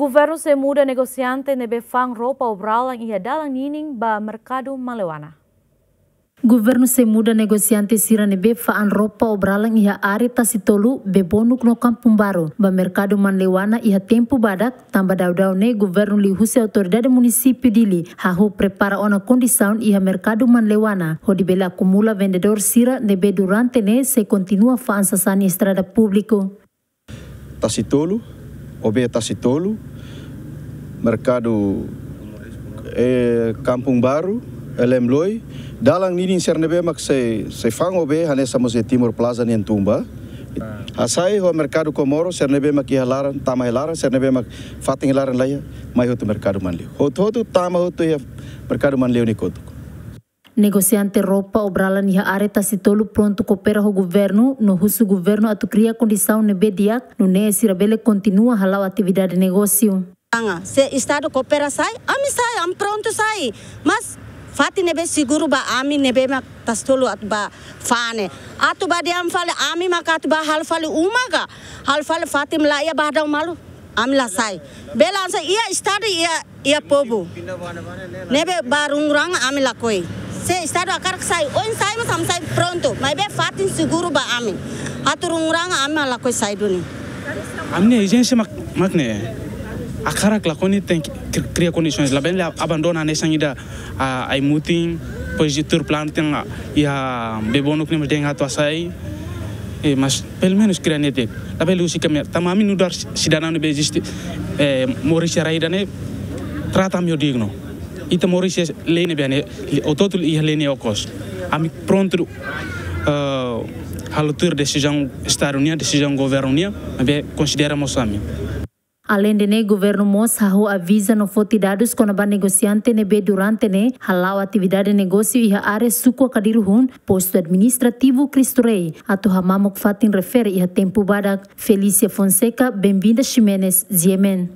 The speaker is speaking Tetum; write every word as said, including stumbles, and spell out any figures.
Governu sei muda negosiante ne'ebé fa'an roupa obralan iha dalan ninin ba merkadu Manleuana. Governu sei muda negosiante sira ne'ebé fa'an roupa obralan iha área Tasitolu, Bebonuk no Kampung Baru ba merkadu Manleuana iha tempu badak, tanba daudaun ne'e governu liuhusi autoridade munisípiu Dili hahú prepara ona kondisaun iha merkadu Manleuana hodi bele akumula vendedór sira ne'ebé durante ne'e sei kontinua fa'an sasán iha estrada públiku. Tasitolu, O B Tasitolu, merkadu, eh, Kampung Baru, Elemloi, dalan ninin sira ne'ebé mak sei, sei fa'an O B, hanesan mós iha Timor Plaza nian tun ba. Hasai ho merkadu Komoro, sira ne'ebé mak iha laran, tama iha laran, sira ne'ebé mak fatin iha laran laiha, mai hotu merkadu Manleu. Hotu-hotu tama hotu iha merkadu Manleu nia kotuk. Negosiante roupa obralan iha área Tasitolu prontu koopera ho governu, no husu governu atu kria kondisaun ne'ebé di'ak, nune'e sira bele kontinua hala'o atividade negósiu. Anga, se Estadu koopera sai, ami sai, ami prontu sai. Mas fatin ne'ebé seguru ba ami ne'ebé mak Tasitolu atu bá fa'an ne'e. Atu bá dehan fali ami mak atu bá halo fali uma ka, halo fali fatin la iha ba dau malu. Ami la sai. Bele hanesan iha Estadu iha, iha povu. Ne'ebé ba rungurang ami lakohi. Se Estadu hakarak sai, oin sai mas ami sai prontu. Maibé fatin seguru ba ami. Atu rungurang ami lakohi sai duni. Ami-nia ezijénsia mak, mak ne'e. Hakarak lakohi ne'e tenke kri-, kria kondisoens. Labele abandona hanesan ida, ah, Aimutin, depois de tuur planu tenke, ah, iha Bebonuk ne'e mós tenke atu hasai. Eh, mas pelumenus kria netik. Labele husik ami, tanba ami nu'udar sidadaun ne'ebé eziste, eh, moris iha rai ida-ne'e, trata ami ho dignu. Ita moris iha lei ne'ebé ne'e, hotu-hotu iha lei nia okos. Ami prontu, eh, halo tuir desizaun Estadu nian, desizaun governu nian, maibé konsidera mós ami. Aleinde ne'e, governu mós hahú aviza no foti dadus kona-ba negosiante ne'ebé durante ne'e hala'o atividade negósiu iha área suku Akadiru-hun, postu administrativu Cristo Rei, atu hamamuk fatin refere iha tempu badak. Felícia Fonseca, Benvinda Ximenes, G M N.